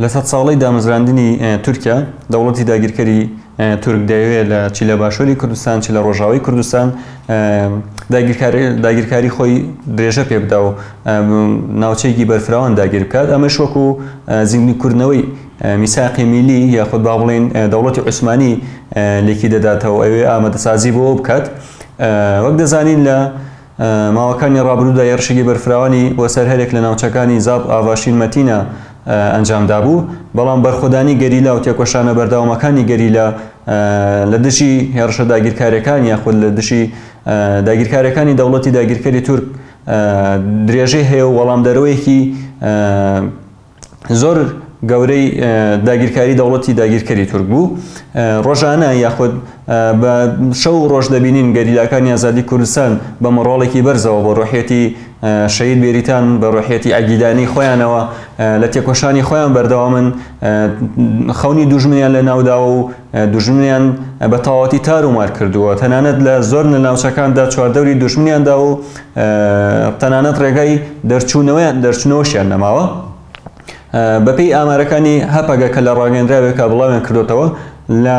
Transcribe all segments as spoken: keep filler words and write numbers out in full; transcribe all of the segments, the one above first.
لە سەد ساڵەی دامەزراندنی تورکیا، دەوڵەتی داگیرکەری تورک دەیەوێت لە چی لە باشووری کوردستان چی لە ڕۆژاوای کوردستان داگیرکاری خۆی درێژە پێ بدا و ناوچەیەکی بەرفراوان داگیر بکات. ئەمەش وەکو زیندووکردنەوەی میساقی میلی یاخود با بڵێین دەوڵەتی عوسمانی لێکی دەداتەوە، ئەوێ ئامادەسازی بۆ بکات. وەک دەزانین لە ماوەکانی ڕابردوودا هێرشێکی بەرفراوانی بۆ سەر هەرێک لە ناوچەکانی زاپ، ئاڤاشین، مەتینە ئەنجام دابوو، بەڵام بەرخۆدانی گەریلا و تێکۆشانە بەردەوامەکانی گەریلا لە دژی هێرشە داگیرکاریەکان یاخود لە دژی داگیرکاریەکانی دەوڵەتی داگیرکەری تورک درێژەی هەیە و وەڵامدەرەوەیەکی زۆر گەورەی داگیرکاری دەوڵەتی داگیرکەری تورک بوو. ڕۆژانە یاخود بە شەو ڕۆژ دەبینین گەریلاکانی ئازادی کوردستان بە مۆڕاڵێکی بەرزەوە بۆ ڕۆحیەتی شەهید بێریتان، بە ڕۆحیەتی ئەگیدانی خۆیانەوە لە تێکۆشانی خۆیان بەردەوامن، خەونی دوژمنیان لە ناوداوە و دوژمنیان بە تەواوەتی تار و مار کردووە. تەنانەت لە زۆر لە ناوچەکاندا چواردەوری دوژمنیان دا و تەنانەت ڕێگای دەرچوونەوەیان دەرچوونەوەشیان نەماوە. بەپێی ئامارەکانی هەپەگە کە لە ڕاگەندراوێکا بڵاویان کردوتەوە، لە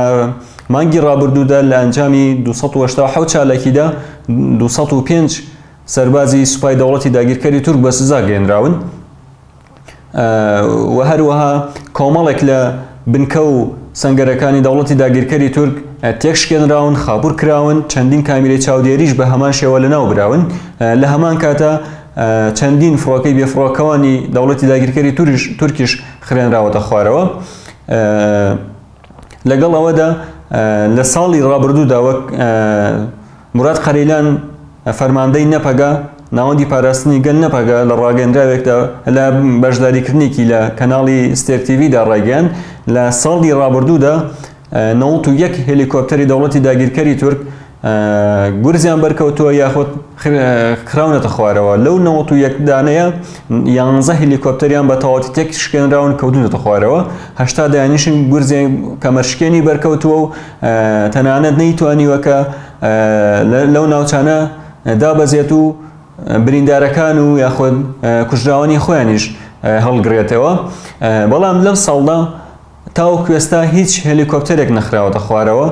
مانگی ڕابردوودا لە ئەنجامی دوو سەد و هەشتا و حەوت چالاکیدا دوو سەد و پێنج سەربازی سوپای دەوڵەتی داگیرکەری تورک بە سزا گەیەنراون و هەروەها کۆمەڵێک لە بنکە و سەنگەرەکانی دەوڵەتی داگیرکەری تورک تێکشکێنراون، خابور کراون، چەندین کامیرەی چاودێریش بە هەمان شێوە لەناو براون. لە هەمان کاتە چەندین فڕۆکەی بێفڕۆکەوانی دەوڵەتی داگیرکەری تورکیش خرێنراوەتە خوارەوە. لەگەڵ ئەوەدا لە ساڵی ڕابردوودا وەک مراد قەرەیلان فەرماندەی نەپەگە، ناوەندی پاراستنی گەل نەپەگە، لە ڕاگەندراوێکدا لە بەشداریکردنێکی لە کەناڵی ستێر تیڤیدا ڕایگەیاند لە ساڵی ڕابردوودا نەوەد و یەک هێلیکۆپتەری دەوڵەتی داگیرکەری تورک گورزیان بەرکەوتووە یاخود خراونەتە خوارەوە. لەو نەوەد و یەک دانەیە یانزە هێلیکۆپتەریان بە تەواوەتی تێک شکێنراون کەوتونەتە خوارەوە، هەشتا دایانیشن گورزیان کەمەرشکێنی بەرکەوتووە و تەنانەت نەیتوانیوە کە لەو ناوچانە دابەزێت و بریندارەکان و یاخود کوژراوانی خۆیانیش هەڵگرێتەوە. بەڵام لەم ساڵدا تاوەکو ئێستا هیچ هێلیکۆپتەرێک نەخراوەتە خوارەوە،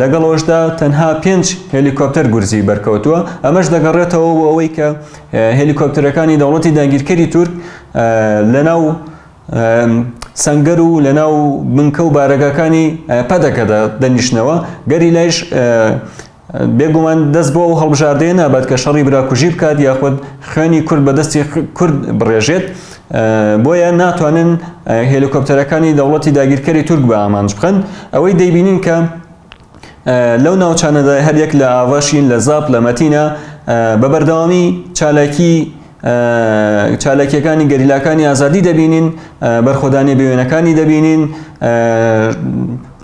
لەگەڵ ئەوەشدا تەنها پێنج هێلیکۆپتەر گورزی بەرکەوتووە. ئەمەش دەگەڕێتەوە بۆ ئەوەی کە هێلیکۆپتەرەکانی دەوڵەتی داگیرکەری تورک لەناو سەنگەر و لەناو بنکە و بارەگاکانی پەدەکەدا دەنیشنەوە. گەریلایش بێگومان دەست بۆ ئەو هەڵبژاردەیە نابات کە شەڕی براکوژی بکات یاخود خوێنی کورد بەدەستی کورد بڕێژێت، بۆیە ناتوانن هێلیکۆپتەرەکانی دەوڵەتی داگیرکەری تورک بە ئامانج بخەن. ئەوەی دەیبینین کە لەو ناوچانەدا هەریەک لە ئاڤاشین، لە زاپ، لە مەتینە بە بەردەوامی چالاکی چالاکیەکانی گەریلاکانی ئازادی دەبینین، بەرخۆدانی بێوێنەکانی دەبینین،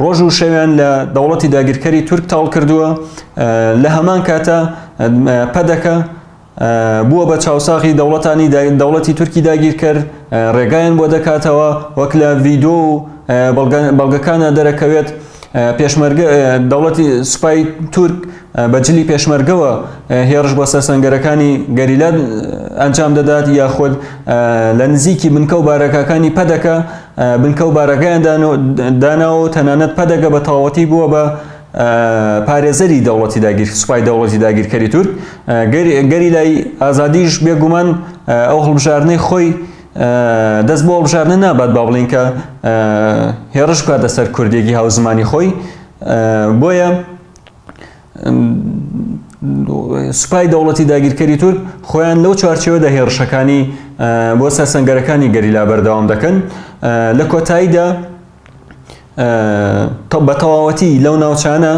ڕۆژ و شەویان لە دەوڵەتی داگیرکەری تورک تاڵ کردووە. لە هەمان کاتە پەدەکە بووە بە چاوساغی دەوڵەتانی دەوڵەتی تورکی داگیرکەر، ڕێگایان بۆ دەکاتەوە وەک لە ڤیدۆ و بەڵگەکانە دەرەکەوێت. پێشمەرگە دەوڵەتی سوپای تورک بە جلی پێشمەرگەوە هێرش بۆ سەر سەنگەرەکانی گەریلا ئەنجام دەدات یاخود لە نزیکی بنکە و بارەکەکانی پەدەکە بنکە و بارەکەیان داناوە و تەنانەت پەدەکە بە تەواوەتی بووە بە پارێزەری دەوڵەتی داگیر سوپای دەوڵەتی داگیرکەری تورک. گەریلای ئازادیش بێگومان ئەو هەڵبژاردنەی خۆی دەست بۆ هەڵبژاردنە نابات با بڵین کە هێرش بکاتە سەر کوردێکی هاوزمانی خۆی. بۆیە سوپای دەوڵەتی داگیرکەری تورک خۆیان لەو چوارچێوەدا هێرشەکانی بۆ سەر سەنگەرەکانی گەریلا بەردەوام دەکەن. لە کۆتاییدا بە تەواوەتی لەو ناوچانە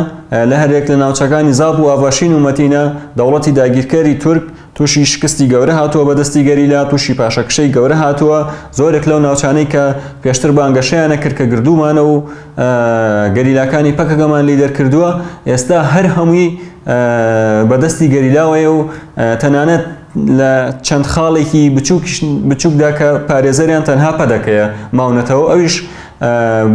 لە هەرێک لە ناوچەکانی زاپ و ئاڤاشین و مەتینە دەوڵەتی داگیرکەری تورک تووشی شکستی گەورە هاتووە بەدەستی گەریلا، تووشی پاشەکشەی گەورە هاتووە. زۆرێک لەو ناوچانەی کە پێشتر بانگەشەیانە کرد کە گردوومانە و گەریلاکانی پەکەکەمان لی دەرکردووە، ئێستا هەر هەمووی بەدەستی گەریلاوەیە و تەنانەت لە چەند خاڵێکی بچووکدا کە پارێزەریان تەنها پەدەکەیە ماونەتەوە، ئەویش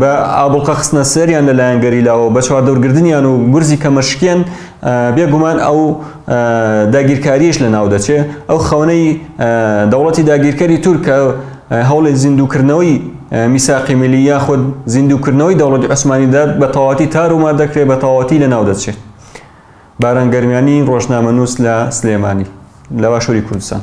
بە ئابوڵقە خستنە سەریان لەلایەن گەریلاوە بە چواردەورگردنیان و گورزی کەمەشکێن بێگومان ئەو داگیرکاریش لە ناو دەچێ. ئەو خەونەی دەوڵەتی داگیرکەری تورکە هەوڵی زیندووکردنەوەی میساقی میلی یاخود زیندووکردنەوەی دەوڵەتی عوسمانیدا بە تەواوەتی تار و مار دەکرێت، بە تەواوەتی لەناو دەچێت. باران گەرمیانی، ڕۆژنامەنووس لە سلێمانی لە باشووری کوردستان.